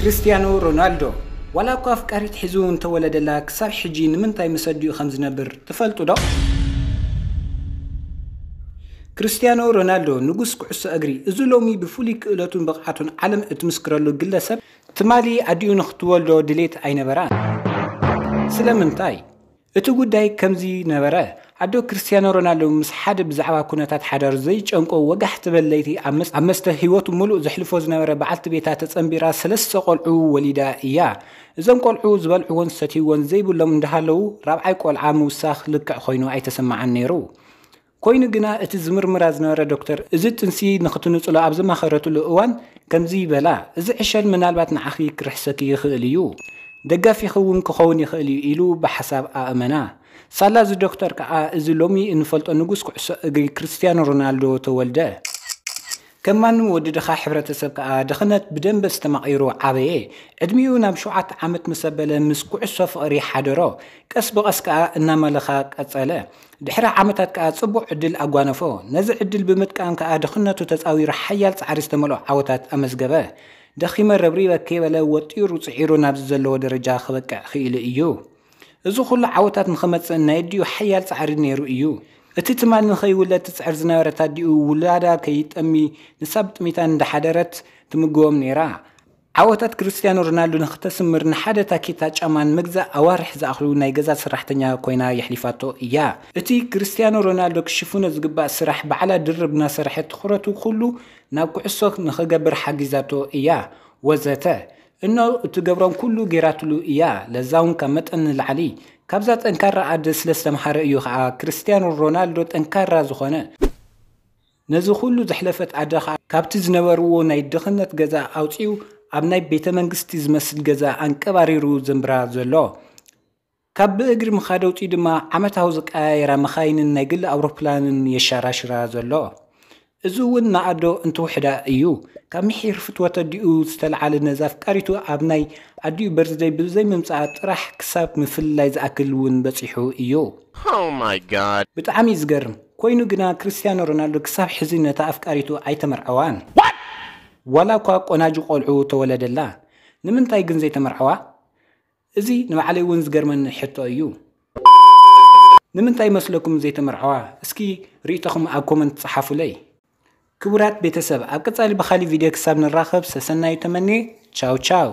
ክርስትያኖ ሮናልዶ ዋላ እኳ ኣፍቃሪት ሒዙ እንተወለደላ ክሳብ ሕጂ ንምንታይ ምስ ኣዲኡ ከም ዝነብር ትፈልጡ ዶ? ክርስትያኖ ሮናልዶ ንጉስ ኩዕሶ እግሪ፣ እዚ ሎሚ ብፍሉይ ክእለቱን ብቕዓቱን ዓለም እትምስክረሉ ግለሰብ ትማሊ ኣዲኡ ንክትወልዶ ድሌት ኣይነበራን። ስለምንታይ? እቲ ጉዳይ ከምዚ ነበረ። ኣዶ ክርስትያኖ ሮናልዶ ምስ ሓደ ብዛዕባ ኩነታት ሓዳሩ ዘይጨንቆ ወጋሕ ትበል ለይቲ ኣብ መስ- ኣብ መስተ ህይወቱ ሙሉእ ዘሕልፎ ዝነበረ በዓልቲ ቤታ ተጸንቢራ ሰለስተ ቆልዑ ወሊዳ እያ። እዞም ቆልዑ ዝበልዕዎን ዝሰትይዎን ዘይብሎም እንዳሃለዉ ራብዓይ ቆልዓ ምውሳኽ ልክዕ ኮይኑ ኣይተሰማዓን ነይሩ። ኮይኑ ግና እቲ ዝምርምራ ዝነበረ ዶክተር እዚ ጥንሲ ንክትንጽሎ ኣብ ዘማኸረትሉ እዋን ከምዚ ይበላ፣ እዚ ዕሸል ምናልባት ንዓኺ ክርሕሰኪ ይኽእል እዩ፣ ደጋፊኺ እውን ክኸውን ይኽእል እዩ ኢሉ ብሓሳብ ኣእመና። ሳላ እዚ ዶክተር ከኣ እዚ ሎሚ እንፈልጦ ንጉስ ኩዕሶ እግሪ ክርስትያኖ ሮናልዶ ተወልደ። ከም ማንም ወዲ ድኻ ሕብረተሰብ ከኣ ድኽነት ብደንበ ዝተማቒሩ ዓበየ። ዕድሚኡ ናብ ሸውዓተ ዓመት ምስ ኣበለ ምስ ኩዕሶ ፍቕሪ ሓደሮ። ቀስ ብቐስ ከኣ እናመለኻ ቀጸለ። ድሕሪ ዓመታት ከኣ ጽቡቕ ዕድል ኣጓነፎ። ነዚ ዕድል ብምጥቃም ከኣ ድኽነቱ ተጻዊሩ ሓያል ጻዕሪ ዝተመልኦ ዓወታት ኣመዝገበ። ደኺመ ረብሪበ ከይበለ ወጢሩ ጽዒሩ ናብዚ ዘለዎ ደረጃ ክበቅዕ ክኢሉ እዩ። እዚ ኩሉ ዓወታት ንኽመጽእ ናይ ኣዲኡ ሓያል ጻዕሪ ነይሩ እዩ። እቲ ትማሊ ንኸይውለድ ትጽዕር ዝነበረት ኣዲኡ ውላዳ ከይጠሚ ንሳ ብጥሚታ እንዳሓደረት ትምግቦም ነይራ። ዓወታት ክርስትያኖ ሮናልዶ ንክተስምር ንሓደ ታኬታ ጫማ ንምግዛእ ኣዋርሕ ዝኣኽሉ ናይ ገዛ ሰራሕተኛ ኮይና የሕሊፋቶ እያ። እቲ ክርስትያኖ ሮናልዶ ክሽፍኖ ዝግባእ ስራሕ ባዕላ ድርብ እናሰርሐት ትኹረቱ ኩሉ ናብ ኩዕሶ ንኽገብር ሓጊዛቶ እያ። ወዘተ እኖ እትገብሮም ኩሉ ጌራትሉ እያ። ለዛውን ካብ መጠን ንላዕሊ። ካብዛ ጠንካራ ኣደ ስለ ዝተምሃረ እዩ ኸዓ ክርስትያኖ ሮናልዶ ጠንካራ ዝኾነ። ነዚ ኩሉ ዘሕለፈት ኣደ ኸዓ ካብቲ ዝነበርዎ ናይ ድኽነት ገዛ ኣውፂኡ ኣብ ናይ ቤተ መንግስቲ ዝመስል ገዛ ኣንቀባሪሩ ዘንብራ ዘሎ። ካብ ብእግሪ ምኻድ ኣውፂኡ ድማ ዓመታዊ ዝቀያየራ መኻይንን ናይ ግሊ ኣውሮፕላንን የሻራሽራ ዘሎ። እዚ እውን ንኣዶ እንትውሕዳ እዩ። ካብ ምሒር ፍትወት ኣዲኡ ዝተልዓለ ነዛ ኣፍቃሪቱ ኣብ ናይ ኣዲኡ በርዝደይ ብዘይምምፅኣ ጥራሕ ክሳብ ምፍልላይ ዝኣክል እውን በፂሑ እዩ። Oh my god. ብጣዕሚ እዩ ዝገርም። ኮይኑ ግና ክርስትያኖ ሮናልዶ ክሳብ ሕዚ ነታ ኣፍቃሪቱ ኣይተመርዐዋን። ዋላ እኳ ቆናጁ ቆልዑ ተወለደላ። ንምንታይ ግን ዘይተመርዐዋ? እዚ ንባዕለይ እውን ዝገርመኒ ሕቶ እዩ። ንምንታይ መስለኩም ዘይተመርዐዋ? እስኪ ርእይቶኹም ኣብ ኮመንት ጸሓፉለይ። ክቡራት ቤተሰብ፣ ኣብ ቀጻሊ ብኻሊ ቪድዮ ክሳብ ንራኸብ ሰሰናዩ ተመንየ። ቻው ቻው።